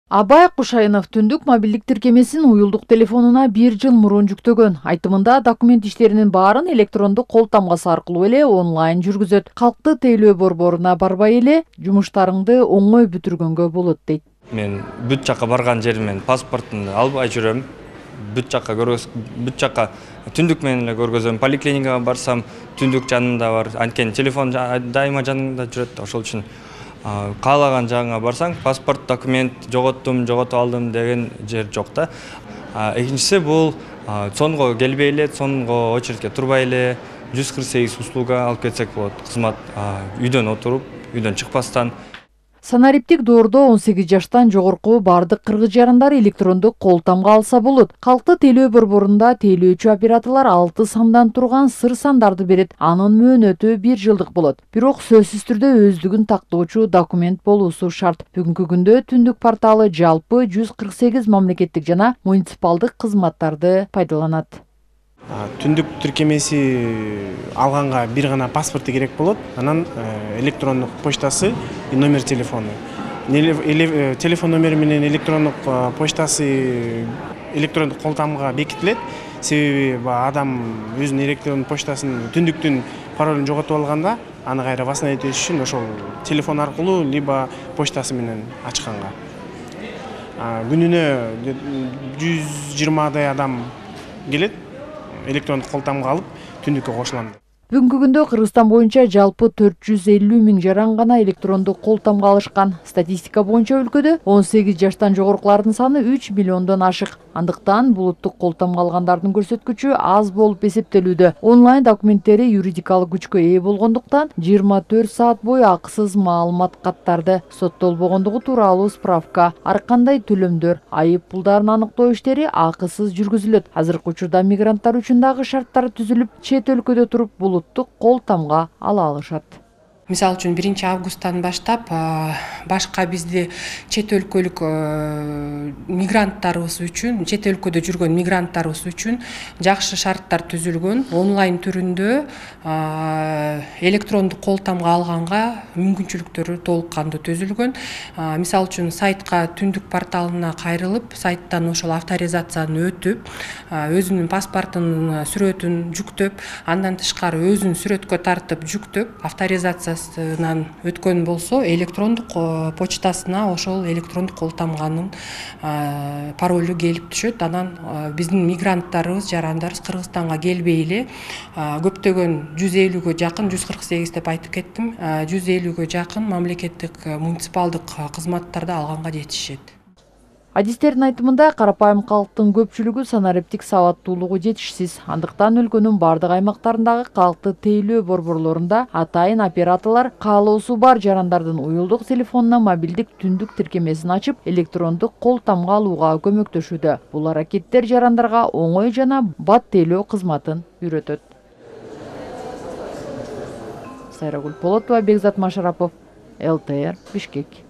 Абай Кушайынов түндүк мобилдик тиркемесин уюлдук телефонуна 1 жыл мурун жүктөгөн. Айтымында документ иштеринин баарын электрондук кол тамгасы аркылуу эле онлайн жүргүзөт. Калкты тейлөө борборуна барбай эле жумуштарыңды оңой бүтүргөнгө болот дейт. Мен бүт жакка барган жеримен паспортумду албай жүрөм. Бүт жакка түндүк менен эле көргөзөм. Поликлиникага барсам түндүк жанымда бар. Анткени телефон дайыма жанымда жүрөт. Ошол үчүн каалаган жагыңа барсаң, паспорт, документ жоготуп алдым деген жер жок да. Экинчиси бул сонго келбей эле, сонго очередке турбай эле 148 услуга алып кетсек болот. Кызмат үйдөн отуруп, үйдөн чыкпастан. Санариптик доордо 18 жаштан жогорку бардык кыргыз жарандары электрондук кол тамга алса болот. Калкты тейлөө борборунда тейлөөчү операторлор 6 сандан турган сыр сандарды берет. Анын мөөнөтү 1 жылдык болот. Бирок сөзсүз түрдө өздүгүн тактоочу документ болуусу шарт. Бүгүнкү күндө түндүк порталы жалпы 148 мамлекеттик жана муниципалдык кызматтарды пайдаланат. Түндүк тиркемеси алганга бир гана паспорту керек болот. Анан электрондук почтасы и номер телефону. Телефон номери менен электрондук почтасы электрондук кол тамга бекитилет. Себеби адам өзүнүн электрондук почтасын түндүктүн паролун жоготуп алганда, аны кайра восстановить этиш үчүн ошол телефон аркылуу либо почтасы менен ачканга. Күнүнө 120 адам келет. Электрондук кол тамга алып түндүккө кошулам. Бүгүнкү күндө Кыргызстан боюнча жалпы 450 миң жаран гана электрондук кол тамга алышкан. Статистика боюнча өлкөдө 18 жаштан жогоркулардын саны 3 миллиондон ашык. Андыктан булуттук кол тамга алгандардын көрсөткүчү аз болуп эсептелүүдө. Онлайн документтери юридикалык күчкө ээ болгондуктан 24 саат бою акысыз маалымат каттарды, соттолбогондугу тууралуу справка, ар кандай төлөмдөр, айып пулдарын аныктоо иштери акысыз жүргүзүлөт. Азыркы учурда мигранттар үчүн дагы шарттар түзүлүп, чет өлкөдө туруп булуттук кол тамга ала алышат. Мисалы үчүн 1 августтан баштап башка бизди чет өлкөлүк мигранттарыбыз үчүн, чет өлкөдө жүргөн мигранттарыбыз үчүн жакшы шарттар түзүлгөн. Онлайн түрүндө электрондук кол тамга алганга мүмкүнчүлүктөрү толук кандуу түзүлгөн. Мисалы үчүн сайтка түндүк порталына кайрылып, сайттан ошол авторизацияны өтүп, өзүнүн паспортунун сүрөтүн жүктөп, андан тышкары өзүн сүрөткө тартып жүктөп, авторизация өткөн болсо электрондук почтасына ошол электрондук кол тамганын паролу келип түшөт. Анан биздин мигранттарыбыз, жарандарыбыз Кыргызстанга келбей эле көптөгөн 150гө жакын, 148 деп айтып кеттим, 150гө жакын мамлекеттик муниципалдык кызматтарды алганга жетишет. Адистердин айтымында карапайым калктын көпчүлүгү санариптик сабаттуулугу жетишсиз. Андыктан өлкөнүн бардык аймактарындагы калкты тейлөө борборлорунда атайын операторлор каалоосу бар жарандардын уюлдук телефонуна мобилдик түндүк тиркемесин ачып, электрондук кол тамга алууга көмөктөшүүдө. Бул аракеттер жарандарга оңой жана бат тейлөө кызматын үйрөтөт. Сайрагүл Полотова, Бекзат Машарапов, ЛТР, Бишкек.